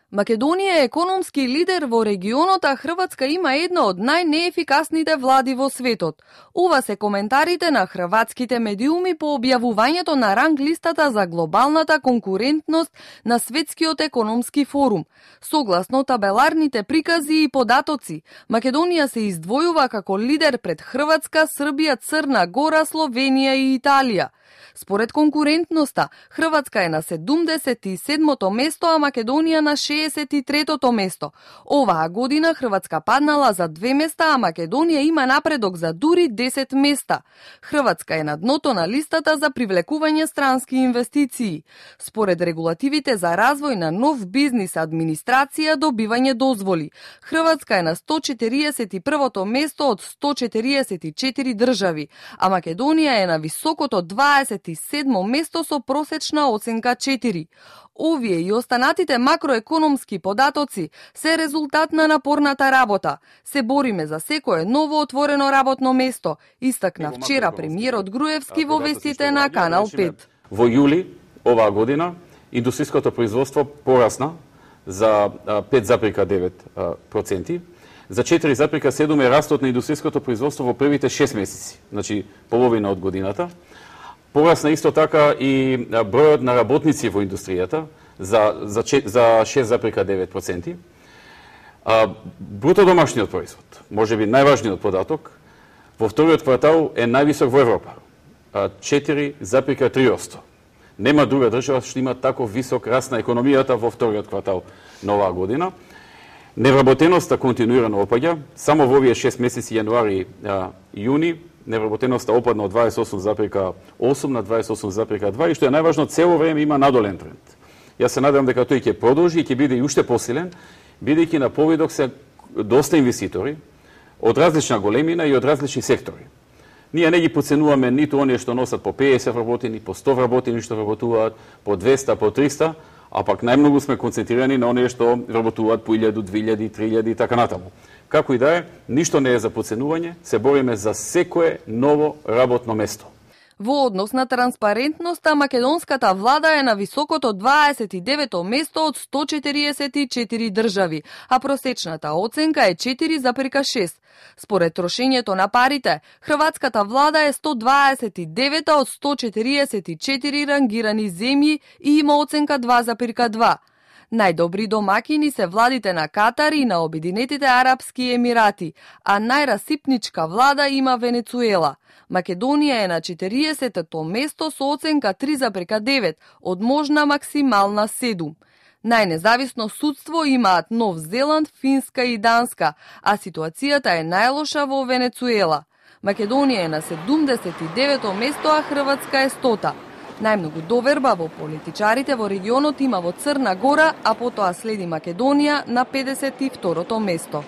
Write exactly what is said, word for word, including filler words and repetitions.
Македонија е економски лидер во регионот, а Хрватска има една од најнеефикасните влади во светот. Ова се коментарите на хрватските медиуми по објавувањето на ранг листата за глобалната конкурентност на Светскиот економски форум. Согласно табеларните прикази и податоци, Македонија се издвојува како лидер пред Хрватска, Србија, Црна Гора, Словенија и Италија. Според конкурентноста, Хрватска е на седумдесет и седмото место, а Македонија на шеесет и третото место. Оваа година Хрватска паднала за две места, а Македонија има напредок за дури десет места. Хрватска е на дното на листата за привлекување странски инвестиции. Според регулативите за развој на нов бизнис, администрација, добивање дозволи, Хрватска е на сто четириесет и првото место од сто четириесет и четири држави, а Македонија е на високото дваесет и седмо место со просечна оценка четири. Овие и останатите макроекономски податоци се резултат на напорната работа. Се бориме за секое ново отворено работно место, истакна вчера премиерот Груевски во вестите на Канал пет. Во јули оваа година индустријското производство порасна за пет запирка девет проценти. За четири запирка седум е растот на индустријското производство во првите шест месеци, значи половина од годината. Порасна исто така и бројот на работници во индустријата за, за, за шест запирка девет проценти. Бруто домашниот производ, може би најважниот податок, во вториот квартал е највисок во Европа, четири запирка три проценти. Нема друга држава што има тако висок раст на економијата во вториот квартал на оваа година. Невработеноста континуирано опаѓа, само во овие шест месеци јануари и јуни невработеноста опадна од дваесет и осум запирка осум на дваесет и осум запирка два и што е најважно, цело време има надолен тренд. Јас се надевам дека тој ќе продолжи и ќе биде и уште посилен, бидејќи на повидок се доста инвеститори од различна големина и од различни сектори. Ние не ги поценуваме ниту оние што носат по пеесет вработени, по сто вработени што вработуваат, по двеста, по триста, а пак најмногу сме концентрирани на оние што вработуваат по илјаду, две илјади, три илјади и така натаму. Како и да е, ништо не е за поценување, се бориме за секое ново работно место. Во однос на транспарентноста, македонската влада е на високото дваесет и девето место од сто четириесет и четири држави, а просечната оценка е четири запирка шест. Според трошењето на парите, хрватската влада е сто дваесет и девета од сто четириесет и четири рангирани земји и има оценка два запирка два. Најдобри домакини се владите на Катар и на Обединетите Арапски Емирати, а најрасипничка влада има Венецуела. Македонија е на четириесетото место со оценка три запирка девет, од можна максимална седум. Најнезависно судство имаат Нов Зеланд, Финска и Данска, а ситуацијата е најлоша во Венецуела. Македонија е на седумдесет и девето место, а Хрватска е стота. Најмногу доверба во политичарите во регионот има во Црна Гора, а потоа следи Македонија на педесет и второто место.